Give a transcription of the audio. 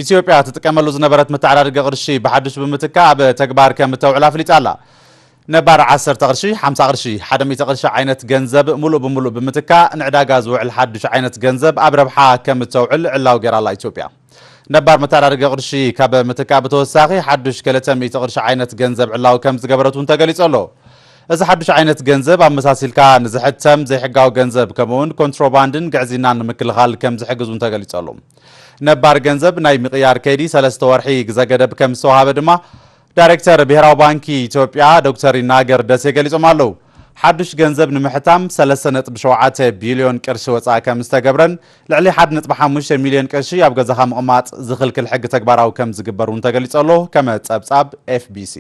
ኢትዮጵያ ትጥቀመሉ ዝነበረት መተዓዳደጊ ቅርሺ ብሓዱሽ ብምትካእ ኣብ ተግባር ከም እተውዕል ኣፍሊጣ ኣላ። ነባር ዓሰርተ ቅርሺ፣ ሓምሳ ቅርሺ፣ ሓደ ሚእቲ ቅርሺ ዓይነት ገንዘብ ሙሉእ ብሙሉእ ብምትካእ ንዕዳጋ ዝውዕል ሓዱሽ ዓይነት ገንዘብ ኣብ ረብሓ ከም እተውዕል ዕላዊ ገይራ ኣላ ኢትዮጵያ። ነባር መተዓዳደጊ ቅርሺ ካብ ምትካእ ብተወሳኺ ሓዱሽ ክልተ ሚእቲ ቅርሺ ዓይነት ገንዘብ ዕላዊ ከም ዝገበረት እውን ተገሊጹ ኣሎ። እዚ ሓዱሽ ዓይነት ገንዘብ ኣመሳሲልካ ንዝሕተም ዘይሕጋዊ ገንዘብ ከምኡውን ኮንትሮባንድን ግዕዝይናን ንምክልኻል ከም ዝሕግዝ እውን ተገሊጹ ኣሎ። ነባር ገንዘብ ናይ ምቕያር ከይዲ ሰለስተ ወርሒ ግዘ ገደብ ከም ዝተዋሃበ ድማ ዳይሬክተር ብሄራዊ ባንኪ ኢትዮጵያ ዶክተር ይናገር ደሴ ገሊጾም ኣለዉ። ሓዱሽ ገንዘብ ንምሕታም ሰለስተ ነጥቢ ሸውዓተ ቢልዮን ቅርሺ ወፃኢ ከም ዝተገብረን ልዕሊ ሓደ ነጥቢ ሓሙሽተ ሚልዮን ቅርሺ ኣብ ገዛኻ ምቕማጥ ዝኽልክል ሕጊ ተግባራዊ ከም ዝግበር እውን ተገሊጹ ኣሎ። ከመ ጸብጻብ ኤፍቢሲ